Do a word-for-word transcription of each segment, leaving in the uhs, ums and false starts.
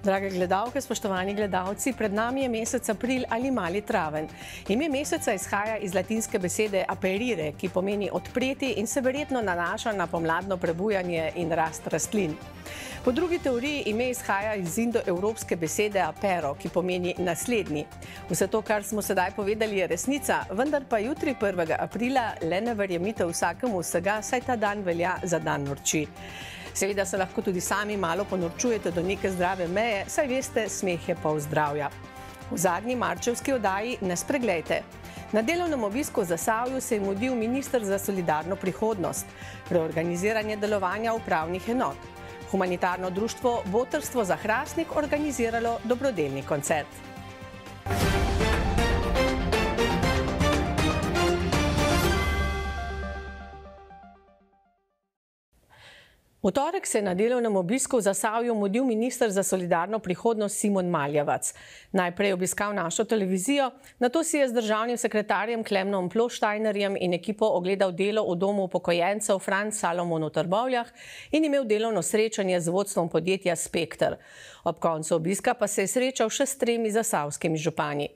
Drage gledalke, spoštovani gledalci, pred nami je mesec april ali mali traven. Ime meseca izhaja iz latinske besede aperire, ki pomeni odpreti in se verjetno nanaša na pomladno prebujanje in rast rastlin. Po drugi teoriji ime izhaja iz indoevropske besede apero, ki pomeni naslednji. Vse to, kar smo sedaj povedali, je resnica, vendar pa jutri prvega aprila le ne verjemite vsakemu vsega, saj ta dan velja za dan norči. Seveda se lahko tudi sami malo ponorčujete do neke zdrave meje, saj veste, smeh je pol zdravja. V zadnji marčevski oddaji ne spreglejte. Na delovnem obisku v Zasavju se je mudil minister za solidarno prihodnost, reorganiziranje delovanja upravnih enot. Humanitarno društvo Botrstvo za Hrastnik organiziralo dobrodelni koncert. V torek se je na delovnem obisku v Zasavju mudil minister za solidarno prihodnost Simon Maljevac. Najprej je obiskal našo televizijo, nato si je z državnim sekretarjem Klemnom Ploštajnerjem in ekipo ogledal delo v domu upokojencev Franc Salomon v Trbovljah in imel delovno srečanje z vodstvom podjetja Spekter. Ob koncu obiska pa se je srečal še s tremi zasavskimi župani.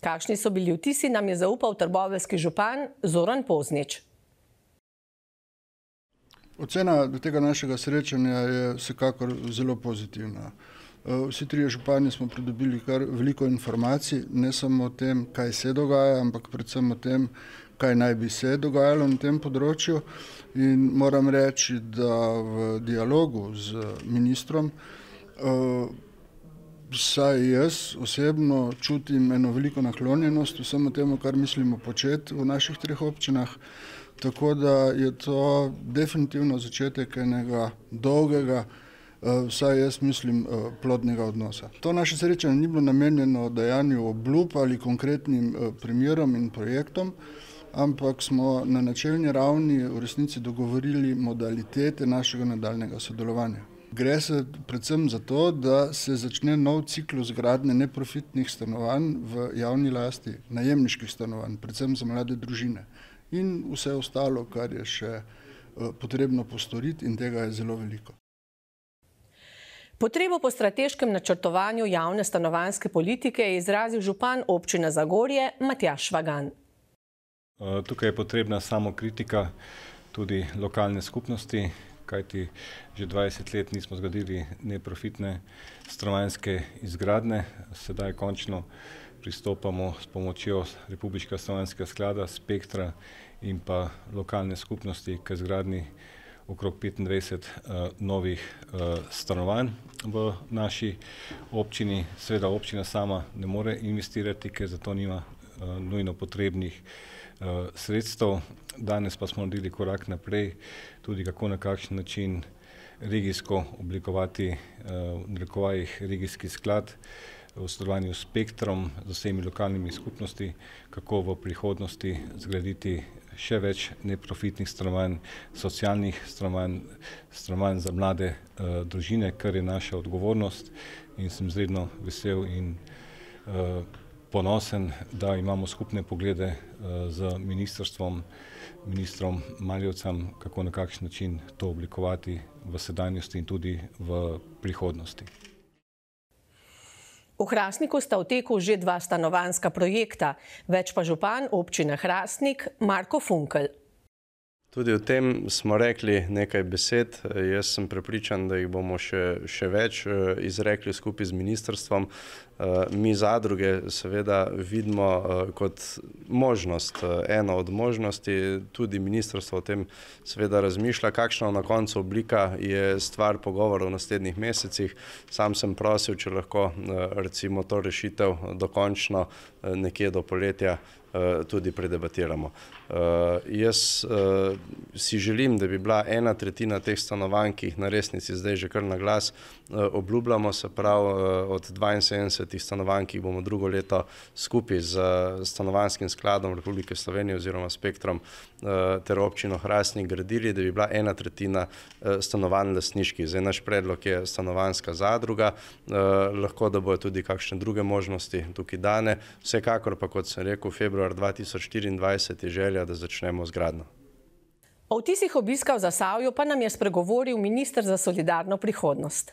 Kakšni so bili vtisi, nam je zaupal trboveljski župan Zoran Poznič. Ocena tega našega srečanja je vsekakor zelo pozitivna. Vsi trije župani smo pridobili kar veliko informacij, ne samo o tem, kaj se dogaja, ampak predvsem o tem, kaj naj bi se dogajalo na tem področju. In moram reči, da v dialogu z ministrom vsaj jaz osebno čutim eno veliko naklonjenost vsemu temu, kar mislimo početi v naših treh občinah. Tako da je to definitivno začetek enega dolgega, vsaj jaz mislim, plodnega odnosa. To naše srečanje ni bilo namenjeno dajanju obljub ali konkretnim primerom in projektom, ampak smo na načelni ravni v resnici dogovorili modalitete našega nadaljnega sodelovanja. Gre se predvsem za to, da se začne nov ciklus gradnje neprofitnih stanovanj v javni lasti, najemniških stanovanj, predvsem za mlade družine. In vse ostalo, kar je še potrebno postoriti, in tega je zelo veliko. Potrebo po strateškem načrtovanju javne stanovanjske politike je izrazil župan občine Zagorje Matjaž Švagan. Tukaj je potrebna samokritika tudi lokalne skupnosti, kajti že dvajset let nismo zgradili neprofitne stanovanjske izgradnje. Sedaj končno pristopamo s pomočjo Republiškega stanovanjskega sklada, Spektra in pa lokalne skupnosti k izgradnji okrog petindvajset novih stanovanj v naši občini. Seveda občina sama ne more investirati, ker za to nima nujno potrebnih sredstev. Danes pa smo naredili korak naprej, tudi kako na kakšen način regijsko oblikovati, v narekovajih regijski sklad v sodelovanju s Spektrom, z vsemi lokalnimi skupnosti, kako v prihodnosti zgraditi še več neprofitnih stanovanj, socialnih stanovanj, stanovanj za mlade družine, kar je naša odgovornost, in sem izredno vesel in ponosen, da imamo skupne poglede z ministrstvom, ministrom Maljevcem, kako na kakšen način to oblikovati v sedanjosti in tudi v prihodnosti. V Hrastniku sta v teku že dva stanovanjska projekta, več pa župan občine Hrastnik Marko Funkel. Tudi o tem smo rekli nekaj besed. Jaz sem prepričan, da jih bomo še, še več izrekli skupaj z ministrstvom. Mi zadruge seveda vidimo kot možnost, eno od možnosti, tudi ministrstvo o tem seveda razmišlja. Kakšna na koncu oblika je stvar pogovora v naslednjih mesecih. Sam sem prosil, če lahko recimo to rešitev dokončno nekje do poletja tudi predebatiramo. Jaz si želim, da bi bila ena tretjina teh stanovanj, ki jih na resnici zdaj že kar na glas obljubljamo, se pravi od dvainsedemdesetih stanovanj, ki jih bomo drugo leto skupaj z Stanovanjskim skladom Republike Slovenije oziroma Spektrom ter občino Hrastnik gradili, da bi bila ena tretjina stanovanj lastniških. Zdaj naš predlog je stanovanjska zadruga, lahko da bojo tudi kakšne druge možnosti tukaj dane. Vsekakor pa, kot sem rekel, februar dva tisoč štiriindvajset je želja, da začnemo z gradnjo. O vtisih obiska v Zasavju pa nam je spregovoril minister za solidarno prihodnost.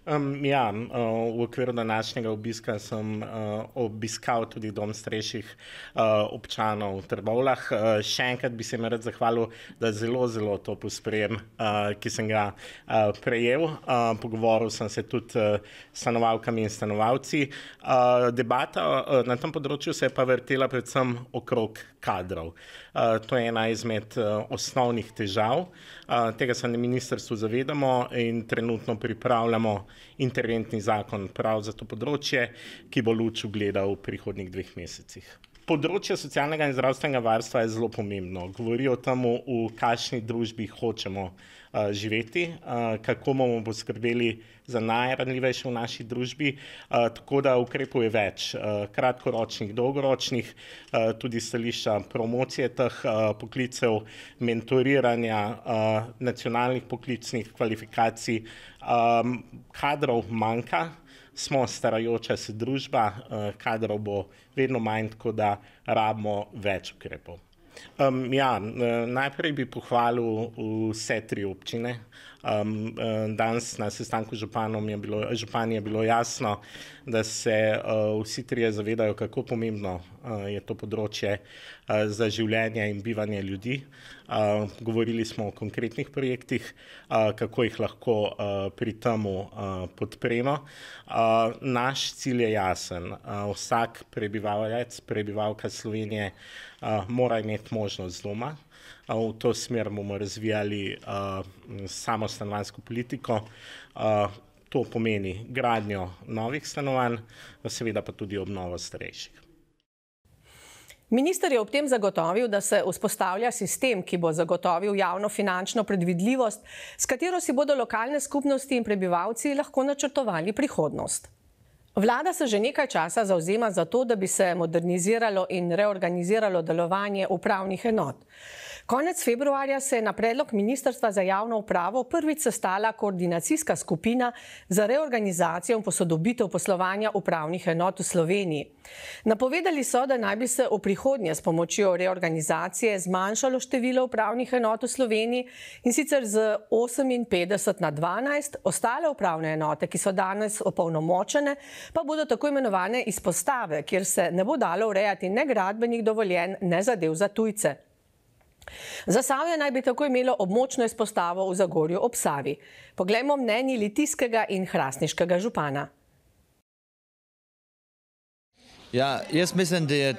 Um, ja, uh, v okviru današnjega obiska sem uh, obiskal tudi dom starejših uh, občanov v Trbovljah. Uh, še enkrat bi se jim rad zahvalil, da zelo, zelo topo sprejem, uh, ki sem ga uh, prejel. Uh, pogovoril sem se tudi uh, s stanovalkami in stanovalci. Uh, debata uh, na tem področju se je pa vrtela predvsem okrog kadrov. Uh, to je ena izmed uh, osnovnih težav. Uh, tega se na ministrstvu zavedamo in trenutno pripravljamo interventni zakon prav za to področje, ki bo luč ugledal v prihodnjih dveh mesecih. Področje socialnega in zdravstvenega varstva je zelo pomembno. Govori o tem, v kakšni družbi hočemo uh, živeti, uh, kako bomo poskrbeli za najranljivejše v naši družbi, uh, tako da ukrepov je več, uh, kratkoročnih, dolgoročnih, uh, tudi stališča promocije teh uh, poklicev, mentoriranja uh, nacionalnih poklicnih kvalifikacij. Um, kadrov manjka. Smo starajoča se družba, kadrov bo vedno manj, tako da rabimo več ukrepov. Um, ja, najprej bi pohvalil vse tri občine. Um, danes na sestanku z županom je bilo, župan je bilo jasno, da se uh, vsi trije zavedajo, kako pomembno uh, je to področje uh, za življenje in bivanje ljudi. Uh, govorili smo o konkretnih projektih, uh, kako jih lahko uh, pri temu uh, podpremo. Uh, naš cilj je jasen. Uh, vsak prebivalec, prebivalka Slovenije uh, mora imeti možnost doma. V to smer bomo razvijali uh, samo stanovanjsko politiko. Uh, to pomeni gradnjo novih stanovanj, seveda pa tudi obnovo starejših. Minister je ob tem zagotovil, da se vzpostavlja sistem, ki bo zagotovil javno finančno predvidljivost, s katero si bodo lokalne skupnosti in prebivalci lahko načrtovali prihodnost. Vlada se že nekaj časa zavzema za to, da bi se moderniziralo in reorganiziralo delovanje upravnih enot. Konec februarja se je na predlog Ministrstva za javno upravo prvič sestala koordinacijska skupina za reorganizacijo in posodobitev poslovanja upravnih enot v Sloveniji. Napovedali so, da naj bi se v prihodnje s pomočjo reorganizacije zmanjšalo število upravnih enot v Sloveniji in sicer z oseminpetdeset na dvanajst, ostale upravne enote, ki so danes opolnomočene, pa bodo tako imenovane izpostave, kjer se ne bo dalo urejati ne gradbenih dovoljenj, ne zadev za tujce. Zasavje naj bi tako imelo območno izpostavo v Zagorju ob Savi. Poglejmo mnenji litijskega in hrastniškega župana. Ja, jaz mislim, da je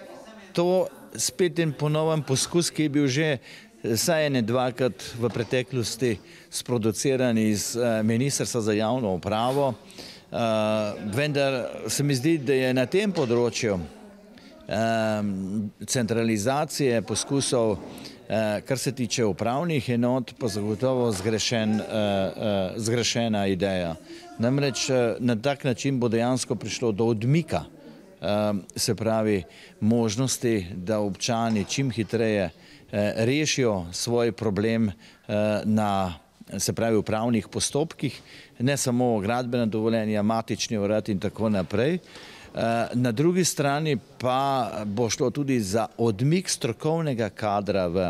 to spet en ponoven poskus, ki je bil že saj ene dvakrat v preteklosti sproduciran iz Ministrstva za javno upravo. Vendar se mi zdi, da je na tem področju centralizacije poskusov, kar se tiče upravnih enot, pa zagotovo zgrešen, zgrešena ideja. Namreč na tak način bo dejansko prišlo do odmika, se pravi možnosti, da občani čim hitreje rešijo svoj problem na, se pravi, upravnih postopkih, ne samo gradbena dovoljenja, matični urad in tako naprej. Na drugi strani pa bo šlo tudi za odmik strokovnega kadra v,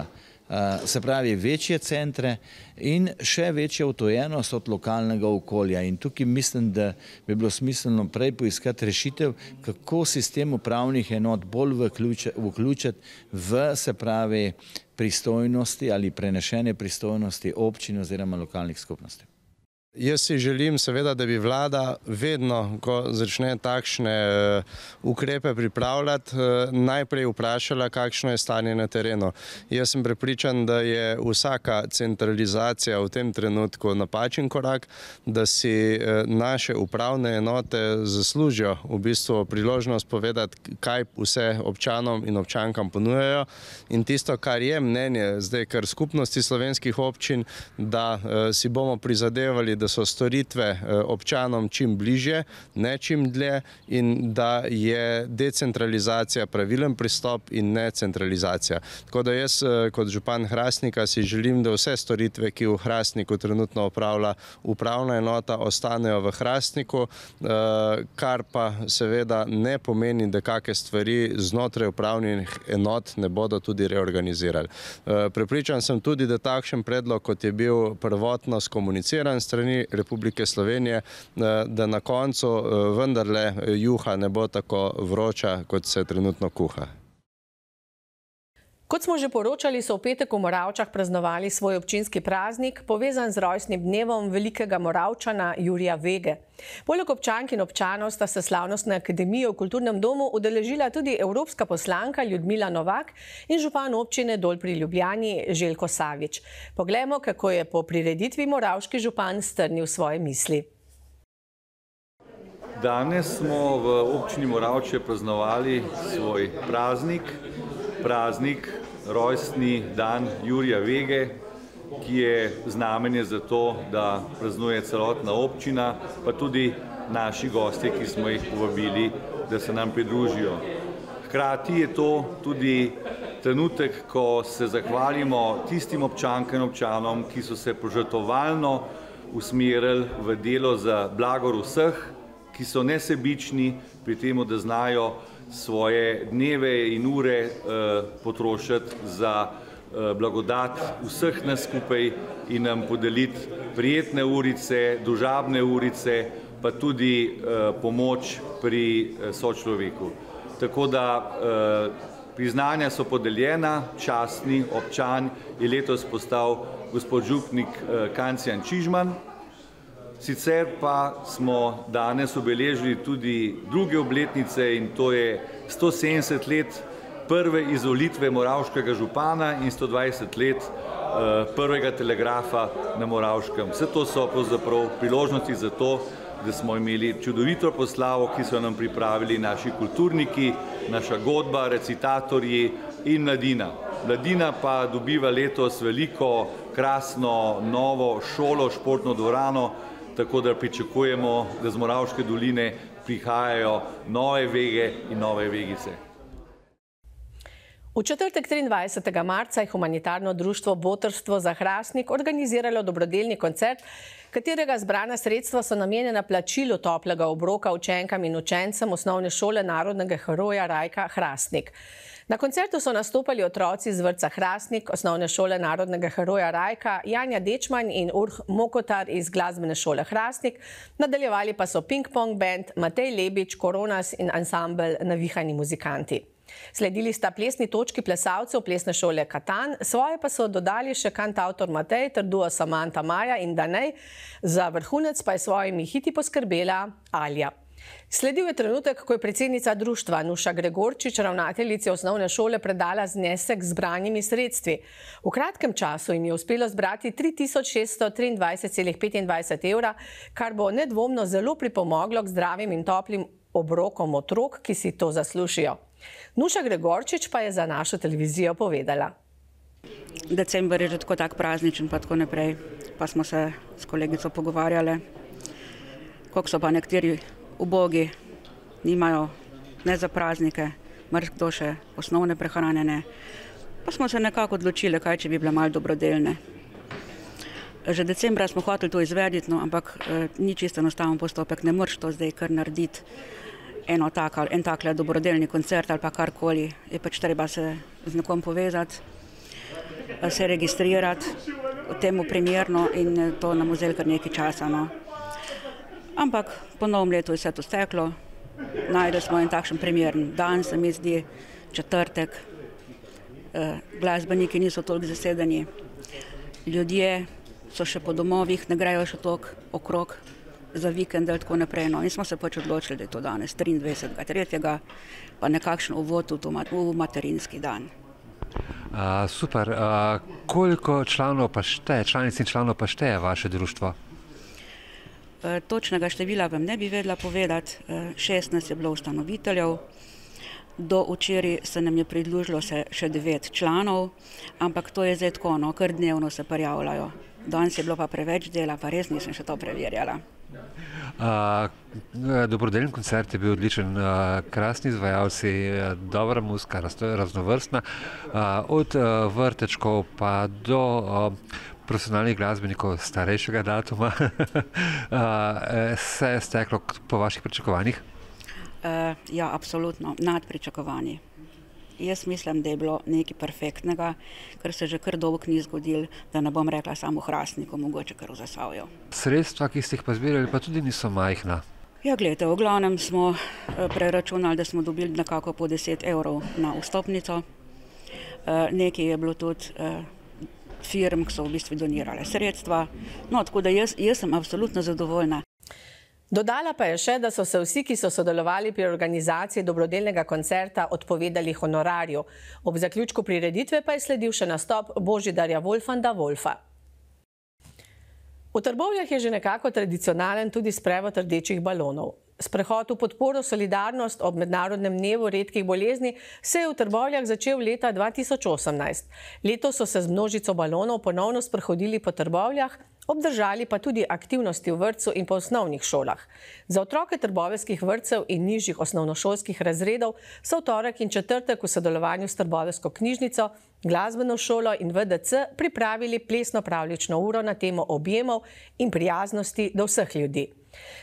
se pravi, večje centre in še večjo odtujenost od lokalnega okolja. In tukaj mislim, da bi bilo smiselno prej poiskati rešitev, kako sistem upravnih enot bolj vključiti v, se pravi, pristojnosti ali prenešene pristojnosti občin oziroma lokalnih skupnosti. Jaz si želim seveda, da bi vlada vedno, ko začne takšne ukrepe pripravljati, najprej vprašala, kakšno je stanje na terenu. Jaz sem prepričan, da je vsaka centralizacija v tem trenutku napačen korak, da si naše upravne enote zaslužijo v bistvu priložnost povedati, kaj vse občanom in občankam ponujajo. In tisto, kar je mnenje zdaj kar skupnosti slovenskih občin, da si bomo prizadevali, da so storitve občanom čim bližje, ne čim dlje, in da je decentralizacija pravilen pristop in ne centralizacija. Tako da jaz kot župan Hrastnika si želim, da vse storitve, ki v Hrastniku trenutno opravlja upravna enota, ostanejo v Hrastniku, kar pa seveda ne pomeni, da kakšne stvari znotraj upravnih enot ne bodo tudi reorganizirali. Prepričan sem tudi, da takšen predlog, kot je bil prvotno skomuniciran strani strani Republike Slovenije, da na koncu vendarle juha ne bo tako vroča, kot se trenutno kuha. Kot smo že poročali, so v petek v Moravčah praznovali svoj občinski praznik, povezan z rojstnim dnevom velikega Moravčana Jurija Vege. Poleg občank in občanov sta se slavnostne akademije v Kulturnem domu udeležila tudi evropska poslanka Ljudmila Novak in župan občine Dol pri Ljubljani Željko Savič. Poglejmo, kako je po prireditvi moravški župan strnil svoje misli. Danes smo v občini Moravče praznovali svoj praznik, praznik, rojstni dan Jurija Vege, ki je znamenje za to, da praznuje celotna občina, pa tudi naši gostje, ki smo jih povabili, da se nam pridružijo. Hkrati je to tudi trenutek, ko se zahvalimo tistim občankam in občanom, ki so se požrtvovalno usmerili v delo za blagor vseh, ki so nesebični pri tem, da znajo svoje dneve in ure eh, potrošiti za eh, blagodat vseh nas skupaj in nam podeliti prijetne urice, družabne urice, pa tudi eh, pomoč pri eh, sočloveku. Tako da eh, priznanja so podeljena, častni občan je letos postal gospod župnik eh, Kancijan Čižman. Sicer pa smo danes obeležili tudi druge obletnice in to je sto sedemdeset let prve izvolitve moravškega župana in sto dvajset let prvega telegrafa na Moravškem. Vse to so pravzaprav priložnosti za to, da smo imeli čudovito proslavo, ki so nam pripravili naši kulturniki, naša godba, recitatorji in mladina. Mladina pa dobiva letos veliko, krasno, novo šolo, športno dvorano, tako da pričakujemo, da z Moravške doline prihajajo nove vege in nove vegice. V četrtek triindvajsetega marca je humanitarno društvo Botrstvo za Hrastnik organiziralo dobrodelni koncert, katerega zbrana sredstva so namenjena plačilu toplega obroka učenkam in učencem osnovne šole narodnega heroja Rajka Hrastnik. Na koncertu so nastopali otroci z vrtca Hrastnik, osnovne šole narodnega heroja Rajka, Janja Dečman in Urh Mokotar iz glasbene šole Hrastnik, nadaljevali pa so Ping Pong band, Matej Lebič, Koronas in ansambel Navihani muzikanti. Sledili sta plesni točki plesalcev plesne šole Katan, svoje pa so dodali še kantavtor Matej ter duo Samanta Maja in Danej, za vrhunec pa je svojimi hiti poskrbela Alja. Sledil je trenutek, ko je predsednica društva Nuša Gregorčič ravnateljici osnovne šole predala znesek z zbranimi sredstvi. V kratkem času jim je uspelo zbrati tri tisoč šeststo triindvajset celih petindvajset evra, kar bo nedvomno zelo pripomoglo k zdravim in toplim obrokom otrok, ki si to zaslužijo. Nuša Gregorčič pa je za našo televizijo povedala. December je že tako tak prazničen, pa tako naprej. Pa smo se s kolegico pogovarjali, koliko so pa nekateri ubogi, nimajo ne za praznike, marsikdo še osnovne prehranjene. Pa smo se nekako odločili, kaj če bi bile malo dobrodelne. Že decembra smo hoteli to izvediti, no, ampak eh, ni čisto enostaven postopek, ne moreš to zdaj kar narediti. Eno tak, en takle dobrodelni koncert ali pa karkoli, je pač treba se z nekom povezati, se registrirati temu primerno in to nam vzelo kar nekaj časa. No. Ampak po novem letu je vse to steklo, najdeli smo en takšen primeren dan, se mi zdi, četrtek, glasbeniki niso toliko zasedeni, ljudje so še po domovih, ne grejo še toliko okrog za vikend ali tako naprej. No. In smo se pač odločili, da je to danes triindvajsetega tretjega pa nekakšen uvod v materinski dan. Uh, super. Uh, koliko članov pa šteje, članic in članov pa šteje vaše društvo? Uh, točnega števila vam ne bi vedela povedati. Uh, šestnajst je bilo ustanoviteljev. Do včeraj se nam je pridružilo se še devet članov, ampak to je zdaj tako, no, kar dnevno se prijavljajo. Danes je bilo pa preveč dela, pa res nisem še to preverjala. Uh, dobrodelni koncert je bil odličen, uh, krasni izvajalci, uh, dobra muzika, raznovrstna, uh, od uh, vrtečkov pa do uh, profesionalnih glasbenikov starejšega datuma. uh, se je steklo po vaših pričakovanjih? Uh, ja, absolutno, nad pričakovanji. jaz mislim, da je bilo nekaj perfektnega, kar se že kar dolgo ni zgodilo, da ne bom rekla samo v Hrastniku, mogoče kar v Zasavju. Sredstva, ki ste jih pa zbirali, pa tudi niso majhna. Ja, gledajte, v glavnem smo preračunali, da smo dobili nekako po deset evrov na vstopnico. Nekaj je bilo tudi firm, ki so v bistvu donirale sredstva. No, tako da jaz, jaz sem absolutno zadovoljna. Dodala pa je še, da so se vsi, ki so sodelovali pri organizaciji dobrodelnega koncerta, odpovedali honorarju. Ob zaključku prireditve pa je sledil še nastop Božidarja Wolfanda Wolfa. V Trbovljah je že nekako tradicionalen tudi sprevod rdečih balonov. Sprehod v podporo Solidarnost ob mednarodnem dnevu redkih bolezni se je v Trbovljah začel leta dva tisoč osemnajst. Letos so se z množico balonov ponovno sprehodili po Trbovljah, obdržali pa tudi aktivnosti v vrtcu in po osnovnih šolah. Za otroke trboveljskih vrtcev in nižjih osnovnošolskih razredov so v torek in četrtek v sodelovanju s Trboveljsko knjižnico, glasbeno šolo in V D C pripravili plesno-pravljično uro na temo objemov in prijaznosti do vseh ljudi.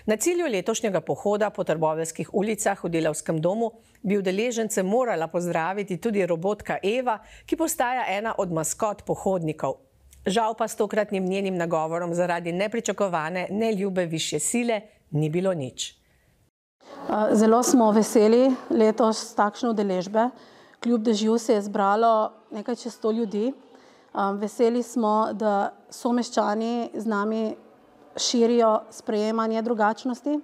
Na cilju letošnjega pohoda po trboveljskih ulicah v Delavskem domu bi udeležence morala pozdraviti tudi robotka Eva, ki postaja ena od maskot pohodnikov. Žal pa s tokratnim njenim nagovorom zaradi nepričakovane, neljube višje sile ni bilo nič. Zelo smo veseli letos takšne udeležbe. Kljub dežju se je zbralo nekaj čez sto ljudi. Veseli smo, da someščani z nami širijo sprejemanje drugačnosti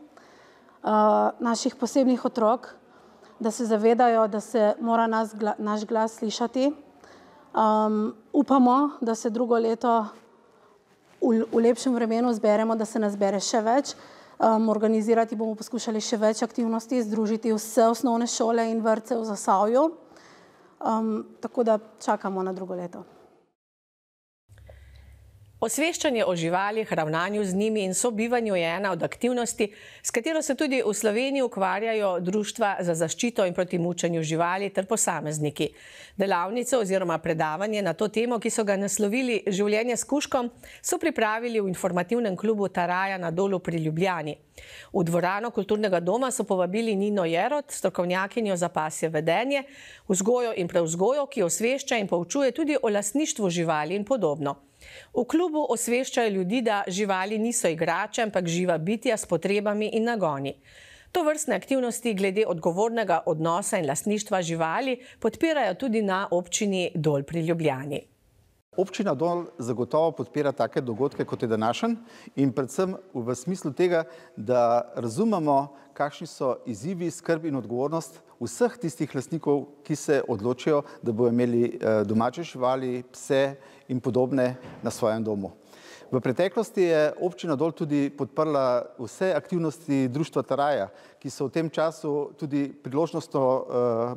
naših posebnih otrok, da se zavedajo, da se mora nas, naš glas slišati. Um, upamo, da se drugo leto v, v lepšem vremenu zberemo, da se nas zbere še več. Um, organizirati bomo poskušali še več aktivnosti, združiti vse osnovne šole in vrtce v Zasavju. Um, tako da čakamo na drugo leto. Osveščanje o živalih, ravnanju z njimi in sobivanju je ena od aktivnosti, s katero se tudi v Sloveniji ukvarjajo društva za zaščito in proti mučenju živali ter posamezniki. Delavnico oziroma predavanje na to temo, ki so ga naslovili Življenje s kužkom, so pripravili v informativnem klubu Taraja na Dolu pri Ljubljani. V dvorano kulturnega doma so povabili Nino Jerot, strokovnjakinjo za pasje vedenje, vzgojo in prevzgojo, ki osvešča in poučuje tudi o lastništvu živali in podobno. V klubu osveščajo ljudi, da živali niso igrače, ampak živa bitja s potrebami in nagoni. Tovrstne aktivnosti glede odgovornega odnosa in lastništva živali podpirajo tudi na občini Dol pri Ljubljani. Občina Dol zagotovo podpira take dogodke, kot je današnji, in predvsem v smislu tega, da razumemo, kakšni so izzivi, skrb in odgovornost vseh tistih lastnikov, ki se odločijo, da bodo imeli domače živali, pse in podobne na svojem domu. V preteklosti je občina Dol tudi podprla vse aktivnosti društva Taraja, ki so v tem času tudi priložnostno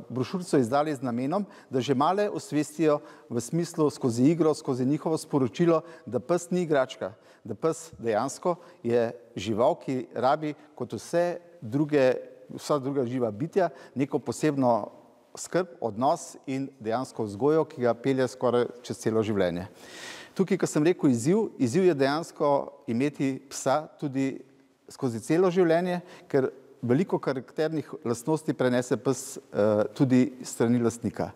brošurico izdali z namenom, da že male osvestijo v smislu skozi igro, skozi njihovo sporočilo, da pes ni igračka, da pes dejansko je žival, ki rabi kot vse druge, vsa druga živa bitja neko posebno skrb, odnos in dejansko vzgojo, ki ga pelje skoraj čez celo življenje. Tukaj, ko sem rekel izziv, izziv je dejansko imeti psa tudi skozi celo življenje, ker veliko karakternih lastnosti prenese pes tudi strani lastnika.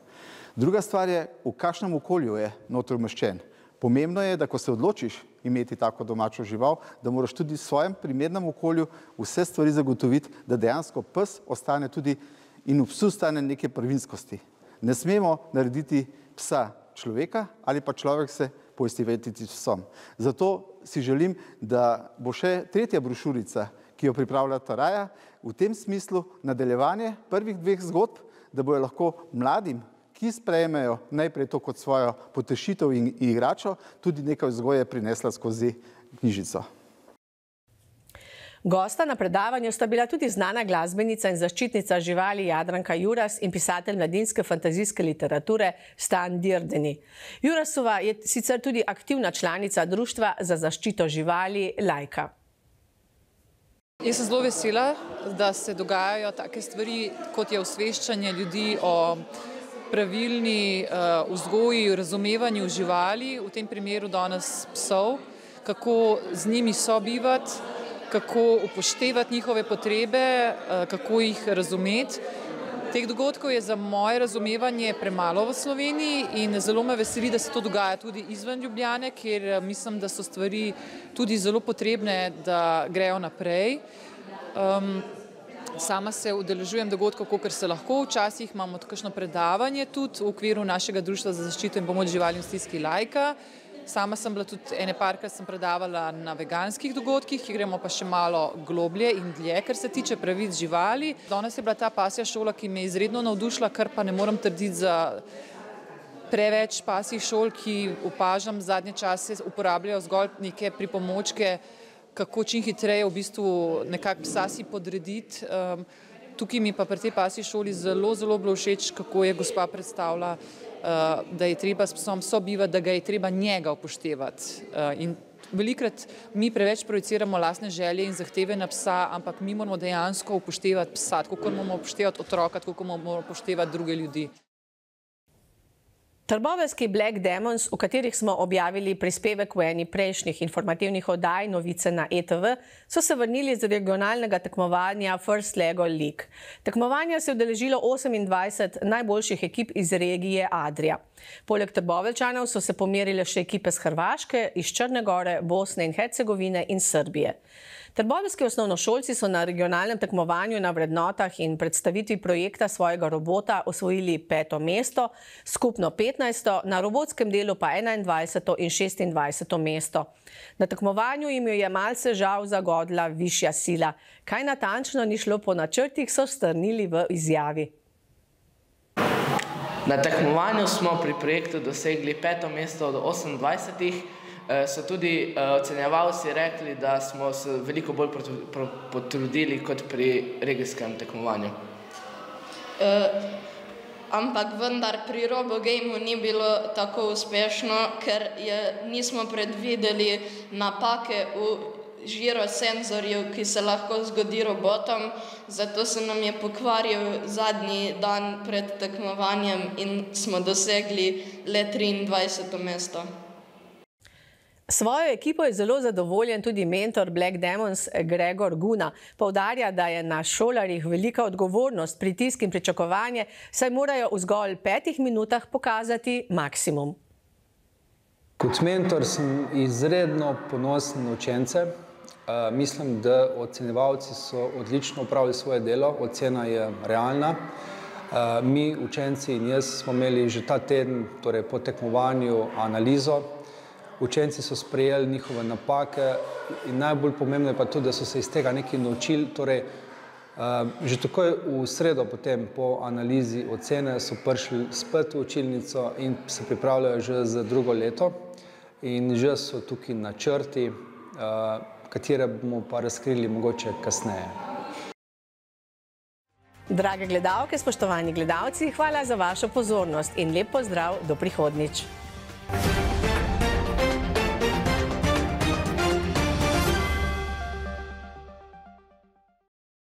Druga stvar je, v kakšnem okolju je noter umeščen. Pomembno je, da ko se odločiš imeti tako domačo žival, da moraš tudi v svojem primernem okolju vse stvari zagotoviti, da dejansko pes ostane tudi in v psu ostane neke prvinskosti. Ne smemo narediti psa človeka ali pa človek se poistovetiti s psom. Zato si želim, da bo še tretja brošurica, ki jo pripravlja Taraja, v tem smislu nadaljevanje prvih dveh zgodb, da bojo lahko mladim, ki sprejmejo najprej to kot svojo potešitev in igračo, tudi nekaj vzgoje prinesla skozi knjižico. Gosta na predavanju sta bila tudi znana glasbenica in zaščitnica živali Jadranka Juras in pisatelj mladinske fantazijske literature Stan Dirdeni. Jurasova je sicer tudi aktivna članica društva za zaščito živali Lajka. Jaz sem zelo vesela, da se dogajajo take stvari, kot je osveščanje ljudi o pravilni vzgoji, razumevanju živali, v tem primeru danes psov, kako z njimi sobivati, kako upoštevati njihove potrebe, kako jih razumeti. Teh dogodkov je za moje razumevanje premalo v Sloveniji in zelo me veseli, da se to dogaja tudi izven Ljubljane, kjer mislim, da so stvari tudi zelo potrebne, da grejo naprej. Um, sama se udeležujem dogodkov, kolikor se lahko, včasih imamo kakšno predavanje tudi v okviru našega Društva za zaščito in pomoč živalim v stiski Lajka. Sama sem bila tudi ene parkrat sem predavala na veganskih dogodkih, ki gremo pa še malo globlje in dlje, kar se tiče pravic živali. Danes je bila ta pasja šola, ki me je izredno navdušila, kar pa ne moram trditi za preveč pasjih šol, ki opažam zadnje čase uporabljajo zgolj neke pripomočke, kako čim hitreje v bistvu nekako psa si podrediti. Um, tukaj mi pa pri tej pasji šoli zelo, zelo bilo všeč, kako je gospa predstavila, uh, da je treba s psom sobivati, da ga je treba njega upoštevati. Uh, in velikrat mi preveč projiciramo lastne želje in zahteve na psa, ampak mi moramo dejansko upoštevati psa, tako kot moramo upoštevati otroka, tako kot moramo upoštevati druge ljudi. Trboveljski Black Demons, v katerih smo objavili prispevek v eni prejšnjih informativnih oddaj Novice na E T V, so se vrnili z regionalnega tekmovanja First Lego League. Tekmovanja se je udeležilo osemindvajset najboljših ekip iz regije Adria. Poleg Trboveljčanov so se pomerile še ekipe z Hrvaške, iz Črne Gore, Bosne in Hercegovine in Srbije. Trboveljski osnovnošolci so na regionalnem tekmovanju na vrednotah in predstavitvi projekta svojega robota osvojili peto mesto, skupno petnajsto, na robotskem delu pa enaindvajseto in šestindvajseto mesto. Na tekmovanju jim je malce žal zagodla višja sila. Kaj natančno ni šlo po načrtih, so strnili v izjavi. Na tekmovanju smo pri projektu dosegli peto mesto od osemindvajsetih. So tudi ocenjevalci rekli, da smo se veliko bolj potrudili kot pri regijskem tekmovanju. Ampak vendar pri RoboGameu ni bilo tako uspešno, ker nismo predvideli napake v žirosenzorju, ki se lahko zgodi robotom, zato se nam je pokvaril zadnji dan pred tekmovanjem in smo dosegli le triindvajseto mesto. Svojo ekipo je zelo zadovoljen tudi mentor Black Demons Gregor Guna. Poudarja, da je na šolarjih velika odgovornost, pritisk in pričakovanje, saj morajo v zgolj petih minutah pokazati maksimum. Kot mentor sem izredno ponosen na učence. Mislim, da ocenjevalci so odlično opravili svoje delo, ocena je realna. Mi, učenci in jaz, smo imeli že ta teden, torej po tekmovanju, analizo. Učenci so sprejeli njihove napake in najbolj pomembno je pa tudi, da so se iz tega nekaj naučili. Torej, že takoj v sredo potem po analizi ocene so prišli spet v učilnico in se pripravljajo že za drugo leto. In že so tukaj načrti, katere bomo pa razkrili mogoče kasneje. Drage gledalke, spoštovani gledalci, hvala za vašo pozornost in lep pozdrav do prihodnjič.